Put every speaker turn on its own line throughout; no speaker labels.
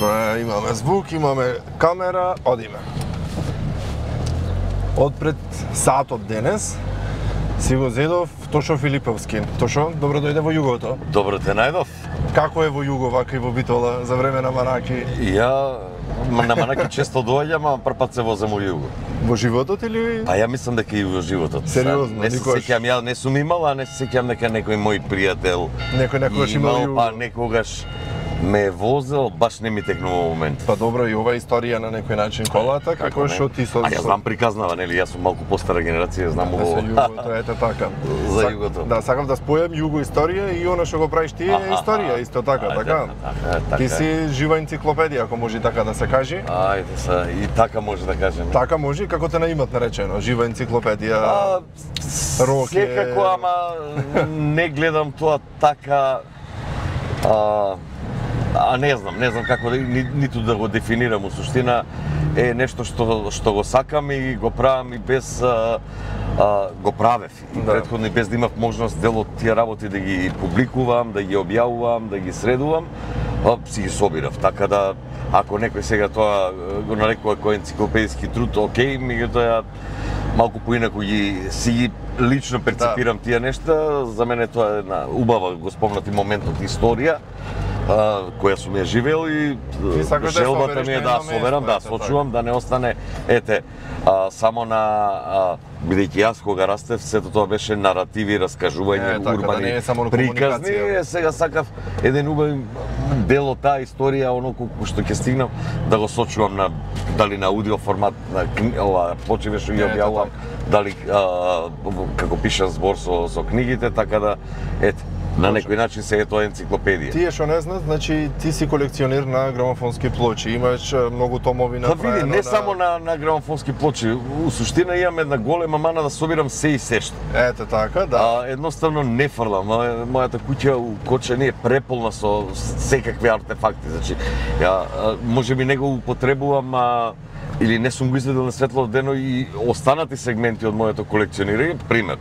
Добро, имаме звук, имаме камера, одиме. Одпред сатот денес си го зедов Тошо Филиповски. Тошо, добро дојде во југото.
Добро те најдов.
Како е во југо, вака и во Битола, за време на Манаки?
Ја на Манаки често доаѓам, а прв пат се возам во југо.
Во животот или?
Па ја мислам дека и во животот.
Сериозно,
не се
никогаш?
сеќам, ја не сум имал, а не се сеќам дека некој мој пријател
Некогаш имал југо.
па некогаш ме е возел, баш не ми текнува момент.
Па добро, и ова историја на некој начин колата, како што ти со...
А ја знам приказнава, нели, јас сум малку постара генерација, знам
За
ово.
југото, ете така.
За југото.
Да, сакам да спојам југо историја и она што го правиш ти е историја, исто така, така? Ти си жива енциклопедија, ако може така да се каже.
Ајде са, и така може да кажеме.
Така може, како те наимат наречено, жива енциклопедија. Роке.
Секако, ама не гледам тоа така, не знам како да, ниту да го дефинирам. У суштина е нешто што го сакам и го правам и без го правев. Претходно и без да имав можност дел од тие работи да ги публикувам, да ги објавувам, да ги средувам, си ги собирав. Така да, ако некој сега тоа го нарекува кој енциклопедиски труд, окей, меѓутоа малку поинаку си ги лично перцепирам тие нешта. За мене тоа е една убава, го спомнати моментот историја која сум ја живеел и желбата ми е да соберам, да сочувам, да не остане, само на бидејќи јас кога растев, сето тоа беше наративи, раскажување, урбани приказни. Сега сакав еден убав дел од таа историја, оноко што ќе стигнам, да го сочувам дали на аудио формат, на почиве што ги објавувам, дали како пишан збор со книгите, така да, на некој начин се е тоа енциклопедија.
Тие што не знаат, значи ти си колекционер на грамофонски плочи, имаш многу томови на
Па види, не само на грамофонски плочи, у суштина имам една голема мана да собирам се и сешто.
Ете така, да.
Едноставно не фрлам. Мојата куќа у Кочани е преполна со секакви артефакти, значи ја можеби не го употребувам, или не сум го изведел на светло дено и останати сегменти од моето колекционирање. Пример,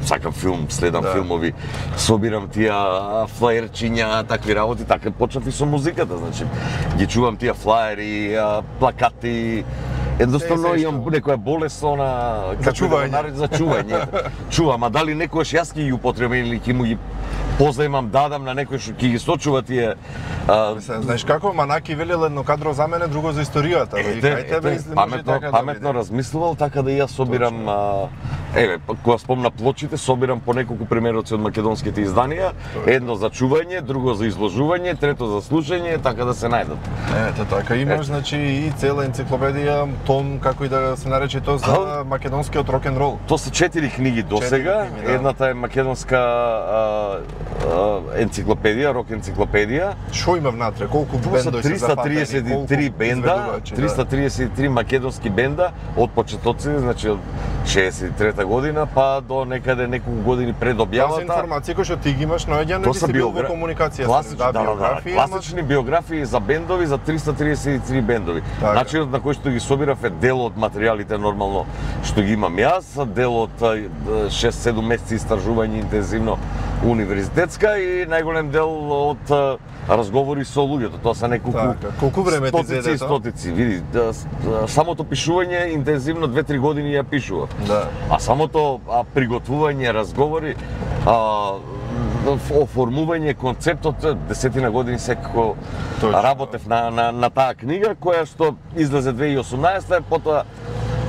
сакам филм, следам филмови, собирам тие флаерчиња, такви работи, така почнав и со музиката, значи ги чувам тие флаери, плакати. Едноставно имам некоја болест
за чување.
За чување. Чувам, а дали некојаш јас ќе ги употребам или ќе му ги позаимам, дадам на некој што ќе ги сочува тие.
Знаеш како, Манаки велел едно кадро за мене, друго за историјата.
Паметно размислувал, така да и јас собирам, кога спомна плочите, собирам по неколку примероци од македонските изданија, едно за чување, друго за изложување, трето за слушање, така да се најдат.
Ете така, имаш значи и цела енциклопедија, том, како и да се нарече тоа, за македонскиот рок-н-рол.
Тоа се 4 книги досега, едната е македонска енциклопедија, рок енциклопедија.
Што има внатре? Колку бендови се запатени?
333 бенда, 333 македонски бенда од почетоци, значи од 63-та година па до некаде неколку години пред објавата.
Тази информација која што ти ги имаш, наоѓа не си бил во комуникација
со биографии. Класични биографии за бендови, за 333 бендови. Начинот на кој што ги собирав е дел од материјалите нормално што ги имам јас, дел од 6-7 месеци истражување интензивно универзитетска и најголем дел од разговори со луѓето. Тоа се неколку
колку време ти зеде тоа?
Стотици, види, самото пишување интензивно 2-3 години ја пишував. А самото приготвување, разговори, оформување концептот, 10 години секако работев на таа книга, која што излезе 2018, потоа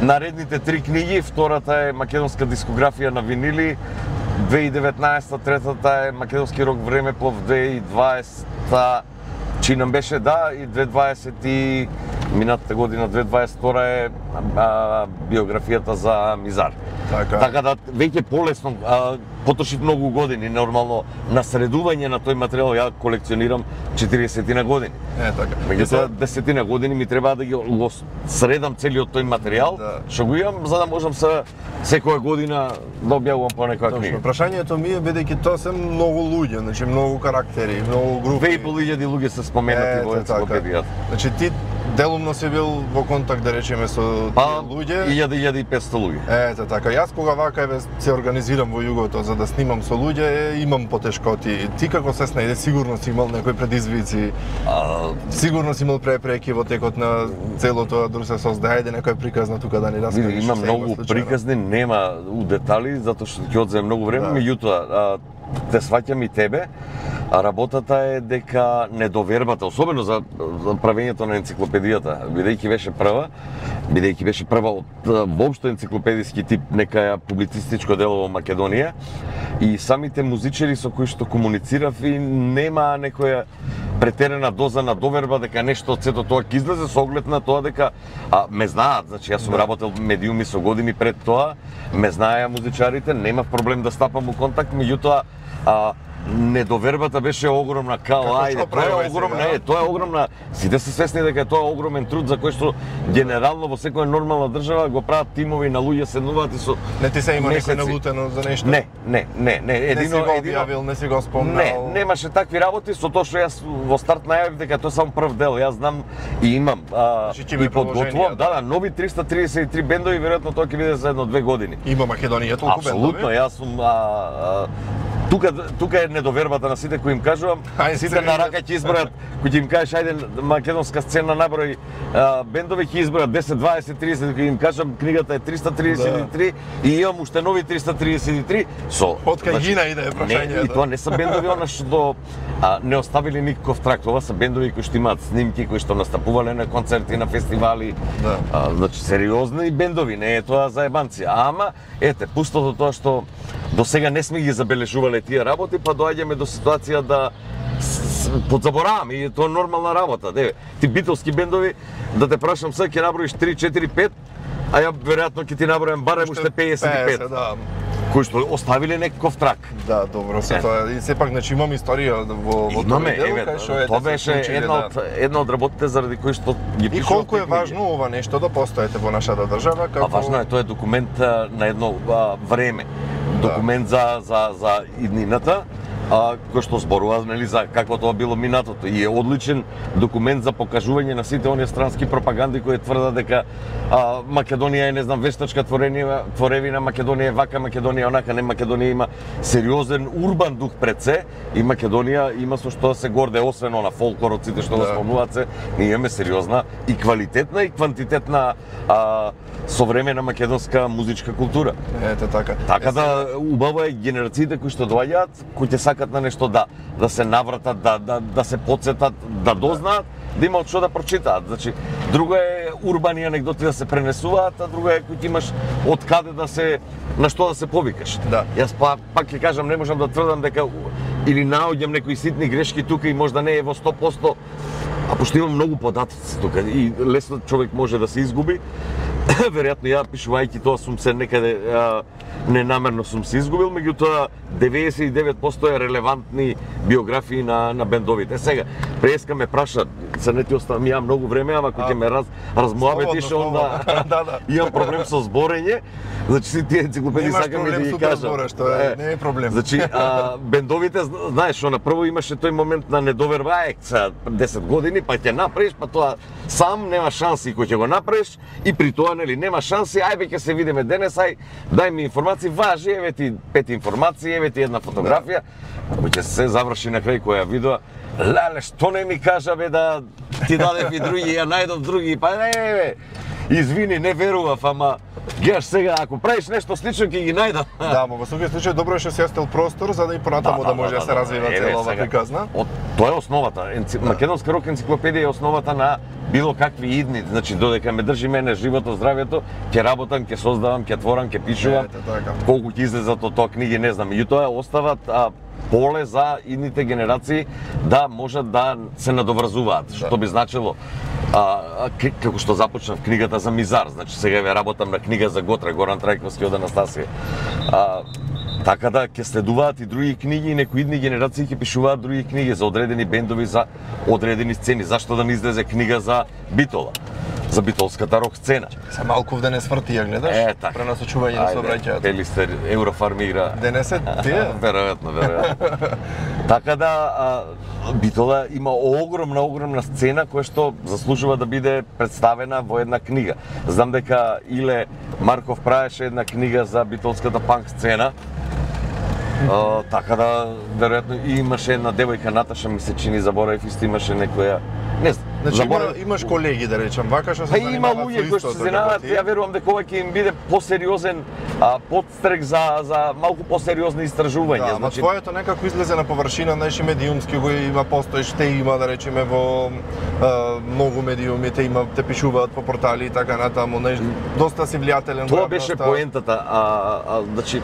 наредните 3 книги, втората е македонска дискографија на винили, 2019, третата е македонски рок времеплов, 2020 чинам беше, и 2020 и минатата година 2022 е биографијата за Мизар. Така да веќе полесно, потроши многу години нормално на средување на тој материјал, ја колекционирам 40 години. Меѓутоа 10 години ми треба да ги средам целиот тој материјал, што го имам за да можам секоја година да објавувам по некоја книга.
Прашањето ми е бидејќи тоа се многу луѓе, значи многу карактери, многу групи.
2.500 луѓе се споменати во енциклопедијата.
Значи ти Делумно си бил во контакт, да речеме, со тие луѓе.
1500 луѓе.
Ете така, јас кога вака се организирам во југото за да снимам со луѓе, имам потешкоти. Ти како се снајде, сигурно си имал некои предизвици. Сигурно си имал препреки во текот на целото друштво создајде некоја приказна тука да ни раскажеш.
Има многу приказни, нема у детали затоа што ќе одземе многу време, меѓутоа те сваќам и тебе. Работата е дека недовербата, особено за правењето на енциклопедијата, бидејќи беше прва од воопшто енциклопедиски тип некаја публицистичко дело во Македонија, и самите музичари со кои што комуницирав и нема некоја претерена доза на доверба дека нешто од сето тоа ќе излезе, со оглед на тоа дека ме знаат, значи јас сум работел медиуми со години пред тоа, ме знаеа музичарите, немав проблем да стапам во контакт, меѓутоа недовербата беше огромна, тоа е огромна, сите се свесни дека тоа е огромен труд за кој што генерално во секоја нормална држава го прават тимови на луѓе, седнуваат и со
Не ти се има некој налутено за нешто?
Не,
не си го објавил, не си го спомнал?
Не, немаше такви работи, со тоа што јас во старт најавив дека тоа само прв дел, јас знам и имам и подготвувам, нови 333 бендови, веројатно тоа ќе биде за 1-2 години.
Има Македонија толку бендови?
Апсолутно, јас сум Тука е недовербата на сите кои им кажувам, сите на рака ќе избројат, кој им кажеш ајде македонска сцена наброј бендови, ќе избројат 10, 20, 30, кој им кажам книгата е 333 и имам уште нови 333 со
од кај гина иде прашањето.
И тоа не се бендови она што не оставили никаков трак, ова се бендови кои што имаат снимки, кои што настапувале на концерти, на фестивали, значи сериозни бендови, не е тоа за ебанци. Ама ете, пустото тоа што до сега не сме ги забележувале тие работи, па доаѓаме до ситуација да подзабораваме и тоа е нормална работа. Ти битолски бендови, да те прашам сега, ќе наброиш 3, 4, 5, а ја веројатно ќе ти набројам барем уште 55. Кои што оставиле некаков трак.
Да, добро се тоа. И сепак, значи имам историја во тоа дело, кај што
тоа беше една од работите заради кои што ги пишував.
И колку е важно ова нешто да постоите во нашата држава, како
важно е, тоа е документ на едно време. Документ за иднината, кој што зборува за какво тоа било минатото, и е одличен документ за покажување на сите оние странски пропаганди кои тврдат дека Македонија е, не знам, вештачка творевина, Македонија е вака, Македонија онака. Не, Македонија има сериозен урбан дух пред се и Македонија има со што да се горде, освен на фолклорот, сите што го спомнуваат се, ние имаме сериозна и квалитетна и квантитетна современа македонска музичка култура.
Ете така.
Така да убаво е генерациите кои што доаѓаат, кои ќе сакат на нешто да се навратат, да се потсетат, да дознаат, да имаат што да прочитаат. Значи, друго е урбани анегдоти да се пренесуваат, а друго е кој ти имаш од каде да се, на што да се повикаш. Јас пак ќе кажам, не можам да тврдам дека или наоѓам некои ситни грешки тука и можда не е во 100%, а пошто имам многу податоци тука и лесно човек може да се изгуби. Веројатно ја пишувајќи тоа сум се некаде ненамерно сум се изгубил, меѓутоа 99% е релевантни биографии на бендовите. Сега, преска ме праша, се не ти оставам ја многу време, ама кој ќе ме размуабетиш, онда имам проблем со зборење. Значи, си тие енциклопедии сакам и да ги кажам.
Не е проблем.
Значи, бендовите, знаеш, на прво имаше тој момент на недоверба, 10 години, па ќе направиш, па тоа сам нема шанси кој ќе го направиш, и при тоа нели нема шанси, ајде ќе се видиме денес, дај ми информации, важи, еве ти 5 информации, еве ти една фотографија, кој ќе се заврши на крај која видео, леле, што не ми кажа бе да ти дадев и други, ја најдов други, па не, извини, не верував, ама гледаш сега, ако правиш нешто слично, ќе ги најдам.
Да, во секој случај добро е што си остел простор за да и понатаму да може да се развива целава приказна.
Тоа е основата. Македонска рок енциклопедија е основата на било какви идни, значи додека ме држи мене животот, здравјето, ќе работам, ќе создавам, ќе творам, ќе пишувам. Колку ќе излезат од тоа книги, не знам. Меѓутоа остават поле за идните генерации да можат да се надоврзуваат, што би значило како што започнав книгата за Мизар, значи сега ве работам на книга за Готра, Горан Трајковски од Анастасија. Така да ќе следуваат и други книги и некои идни генерации ќе пишуваат други книги за одредени бендови, за одредени сцени. Зашто да не излезе книга за Битола? за битолската рок сцена.
Се малку в денес врти ја гледаш?
Така.
Пренасочување на сообраќајот.
Пелистер Еврофармира.
Денес е тие?
Веројатно. Така да Битола има огромна сцена која што заслужува да биде представена во една книга. Знам дека Иле Марков правеше една книга за битолската панк сцена. Така да, веројатно, и имаше една девојка, Наташа, ми се чини, заборавив, исто имаше некоја... Не знам,
Значи имаш колеги, да речем, вака што се занимаваат
има луѓе кои што се занимаваат, ја верувам дека ова ќе им биде посериозен подстрек за малку посериозни истражувања.
Да, значи твоето некако излезе на површина, знаеш, и медиумски го има, постоиш, те има, да речеме, во многу медиуми, те пишуваат по портали и така натаму, знаеш, доста си влијателен.
Тоа беше поентата, значи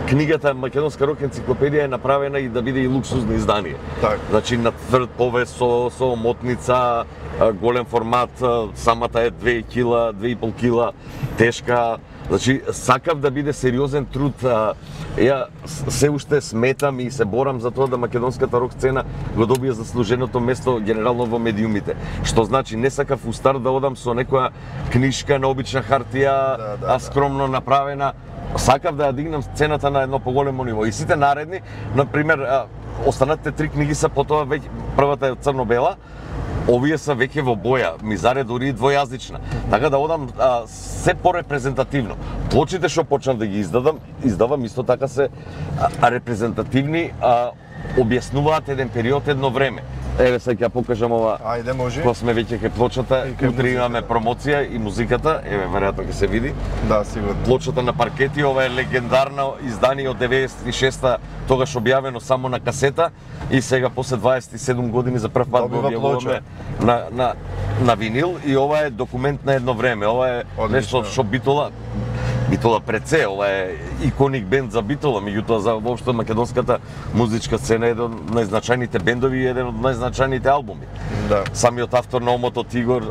книгата Македонска рок енциклопедија е направена и да биде и луксузно издание.
Так.
Значи на тврд повест со мотница, голем формат, самата е 2 кила, 2,5 кила тешка. Значи сакав да биде сериозен труд. Ја се уште сметам и се борам за тоа да македонската рок сцена го добие заслуженото место генерално во медиумите. Што значи не сакав у старт да одам со некоја книшка на обична хартија, скромно направена. Сакав да ја дигнам сцената на едно поголемо ниво. И сите наредни, например, останатите 3 книги се потоа веќе, првата е црно-бела, овие са веќе во боја, мизаре дури и двојазична. Така да одам се порепрезентативно. Плочите што почнав да ги издавам исто така се репрезентативни, објаснуваат еден период, едно време. Еве сега ќе покажам ова.
Ајде, може.
Кога сме веќе кај плочата, утре имаме промоција и музиката, еве веројатно ќе се види.
Да, сигурно.
Плочата на паркети, ова е легендарно издание од 96-та, тогаш објавено само на касета и сега после 27 години за прв пат го објавуваме на винил и ова е документ на едно време. Ова е нешто што Битола пред се, ова е иконик бенд за Битола, меѓутоа за воопшто македонската музичка сцена е еден од најзначајните бендови и еден од најзначајните албуми.
Да.
Самиот автор на Омото Тигор,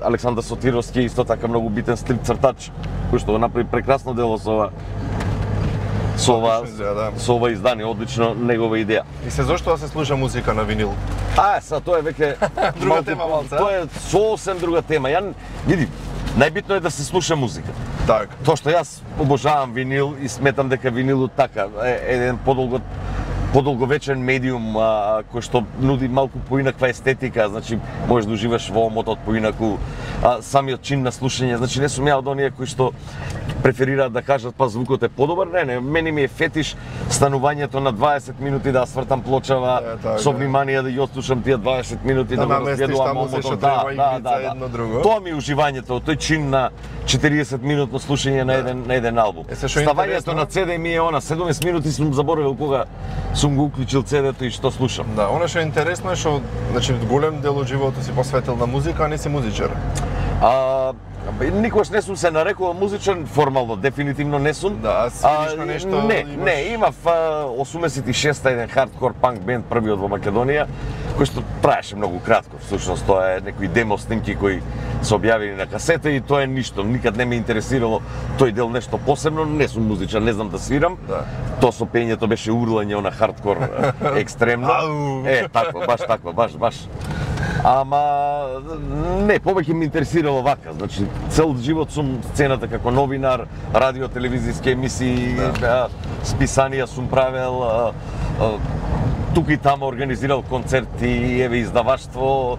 Александар Сотировски, исто така многу битен стрип цртач, кој што го направи прекрасно дело со ова издание, одлично негова идеја.
И се зошто да се слуша музика на винил?
Тоа е веќе
друга тема,
тоа е сосем друга тема. Ја види, најбитно е да се слуша музика.
Так.
Тоа што јас обожавам винил и сметам дека винилот така е еден подолговечен медиум кој што нуди малку поинаква естетика, значи можеш да уживаш во омотот поинаку, самиот чин на слушање, значи не сум ја од оние кои што преферираат да кажат па звукот е подобар, не, мене ми е фетиш станувањето на 20 минути да свртам плочава, со внимание да ја отслушам тие 20 минути да го разгледувам омотот, Тоа ми е уживањето, тој чин на 40 минутно слушање на еден албум. Ставањето на CD ми е 17 минути сум заборавил кога сум го уклучил CD-то и што слушам.
Да, она што е интересно е што, значи, голем дел од животот си посветил на музика, а не си музичар.
Никош не сум се нарекувал музичар, формално, дефинитивно не сум.
Да, свириш на нешто?
Не, имав 86-та еден хардкор панк бенд, првиот во Македонија, кој што траеше многу кратко, всушност тоа е некои демо снимки кои се објавени на касета и тоа е ништо, никад не ме интересирало тој дел нешто посебно, не сум музичар, не знам да свирам.
Да.
Тоа со пењето беше урлање на хардкор екстремно. Такво, баш такво, баш. Ама не, повеќе ме интересирало вака, значи цел живот сум сцената како новинар, радио, телевизиски емисии, списанија сум правел, тука и тама организирал концерти, еве издаваштво.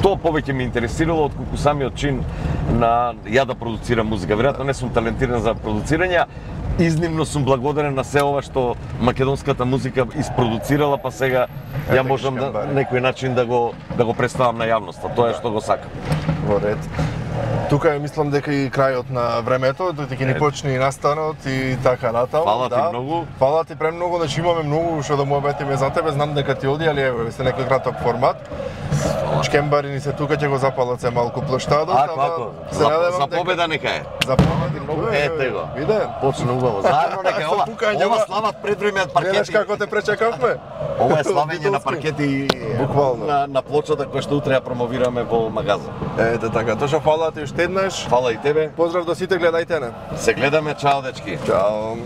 Тоа повеќе ме интересирало отколку самиот чин на ја да продуцирам музика. Веројатно не сум талентиран за продуцирање. Изнimно сум благодарен на се ова што македонската музика испродуцирала, па сега ја можам на некој начин да го представам на јавноста. Тоа е што го сакам.
Во ред. Тука е, мислам дека и крајот на времето, дека ни почне и настанот и така натаму.
Фала ти многу.
Фала ти премногу, значи имаме многу што да му обетиме за тебе, знам дека ти оди, али еве се некој краток формат. Чкембари ни се тука, ќе го запалат се малку плоштадот,
ама за победа нека е.
За победа многу е.
Ете го.
Виде?
Почна убаво. Заедно нека ова слават пред време од паркети.
Гледаш како те пречекавме?
Ова е славење на паркети
буквално
на плочата која што утре ја промовираме во магазин.
Ете така, тоа што фала ти уште еднаш.
Фала и тебе.
Поздрав до сите, гледајте не.
Се гледаме, чао дечки.
Чао.